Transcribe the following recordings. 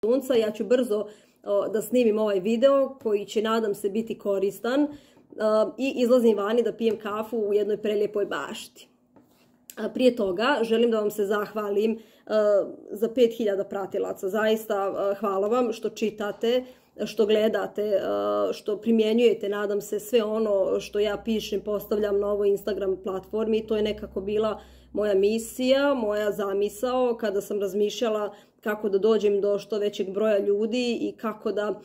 sunca. Ja ću brzo da snimim ovaj video koji će, nadam se, biti koristan i izlazim vani da pijem kafu u jednoj prelijepoj bašti. Prije toga želim da vam se zahvalim za 5000 pratilaca. Zaista hvala vam što čitate, što gledate, što primjenjujete, nadam se, sve ono što ja pišem, postavljam na ovoj Instagram platformi. To je nekako bila moja misija, moja zamisao kada sam razmišljala kako da dođem do što većeg broja ljudi i kako da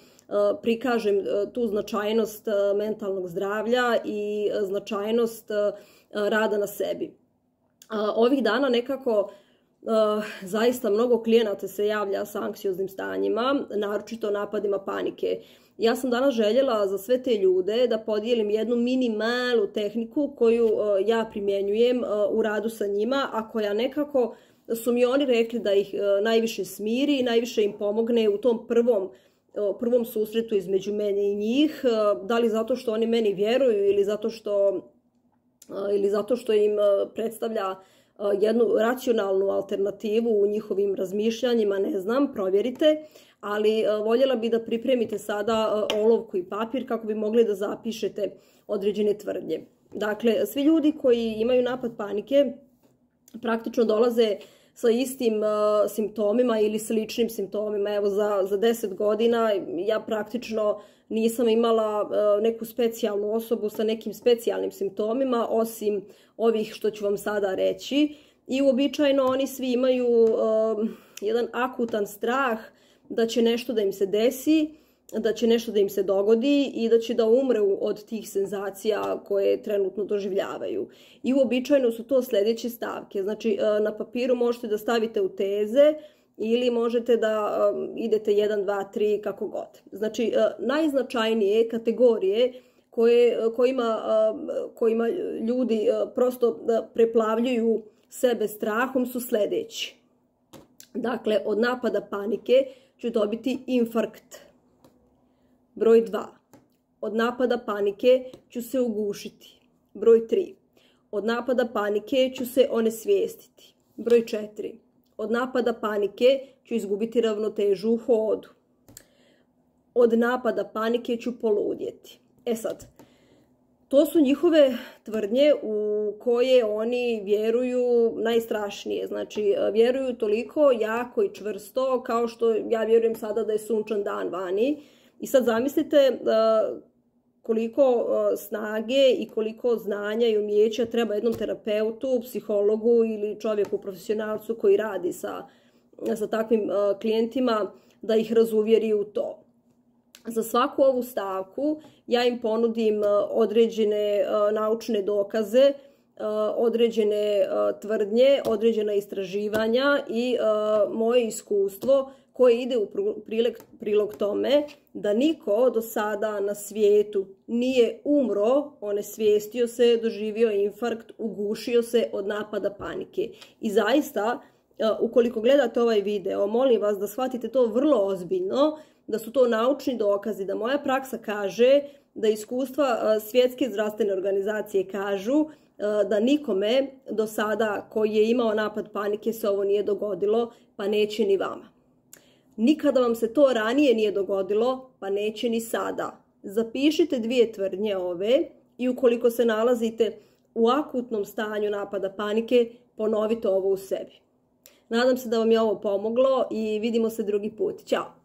prikažem tu značajnost mentalnog zdravlja i značajnost rada na sebi. Ovih dana nekako zaista mnogo klijenata se javlja sa anksioznim stanjima, naročito napadima panike. Ja sam danas željela za sve te ljude da podijelim jednu minimalnu tehniku koju ja primjenjujem u radu sa njima, a koja nekako su mi oni rekli da ih najviše smiri i najviše im pomogne u tom prvom susretu između mene i njih. Da li zato što oni meni vjeruju ili zato što im predstavlja jednu racionalnu alternativu u njihovim razmišljanjima, ne znam, provjerite, ali voljela bi da pripremite sada olovku i papir kako bi mogli da zapišete određene tvrdnje. Dakle, svi ljudi koji imaju napad panike praktično dolaze sa istim simptomima ili sličnim simptomima. Evo, za 10 godina ja praktično nisam imala neku specijalnu osobu sa nekim specijalnim simptomima, osim ovih što ću vam sada reći. I uobičajeno oni svi imaju jedan akutan strah da će nešto da im se desi, da će nešto da im se dogodi i da će da umru od tih senzacija koje trenutno doživljavaju. I uobičajeno su to sljedeće stavke. Znači, na papiru možete da stavite u teze ili možete da idete 1, 2, 3, kako god. Znači, najznačajnije kategorije kojima ljudi prosto preplavljuju sebe strahom su sljedeći. Dakle, od napada panike ću dobiti infarkt. Broj 2. Od napada panike ću se ugušiti. Broj 3. Od napada panike ću se onesvijestiti. Broj 4. Od napada panike ću izgubiti ravnotežu u hodu. Od napada panike ću poludjeti. E sad, to su njihove tvrdnje u koje oni vjeruju najstrašnije. Znači, vjeruju toliko jako i čvrsto kao što ja vjerujem sada da je sunčan dan vani. I sad zamislite koliko snage i koliko znanja i umijeća treba jednom terapeutu, psihologu ili čovjeku, profesionalcu koji radi sa takvim klijentima da ih razuvjeri u to. Za svaku ovu stavku ja im ponudim određene naučne dokaze, određene tvrdnje, određena istraživanja i moje iskustvo koje ide u prilog tome da niko do sada na svijetu nije umro, onesvijestio se, doživio infarkt, ugušio se od napada panike. I zaista, ukoliko gledate ovaj video, molim vas da shvatite to vrlo ozbiljno, da su to naučni dokazi, da moja praksa kaže, da iskustva Svjetske zdravstvene organizacije kažu da nikome do sada koji je imao napad panike se ovo nije dogodilo, pa neće ni vama. Nikada vam se to ranije nije dogodilo, pa neće ni sada. Zapišite 2 tvrdnje ove i ukoliko se nalazite u akutnom stanju napada panike, ponovite ovo u sebi. Nadam se da vam je ovo pomoglo i vidimo se drugi put. Ćao!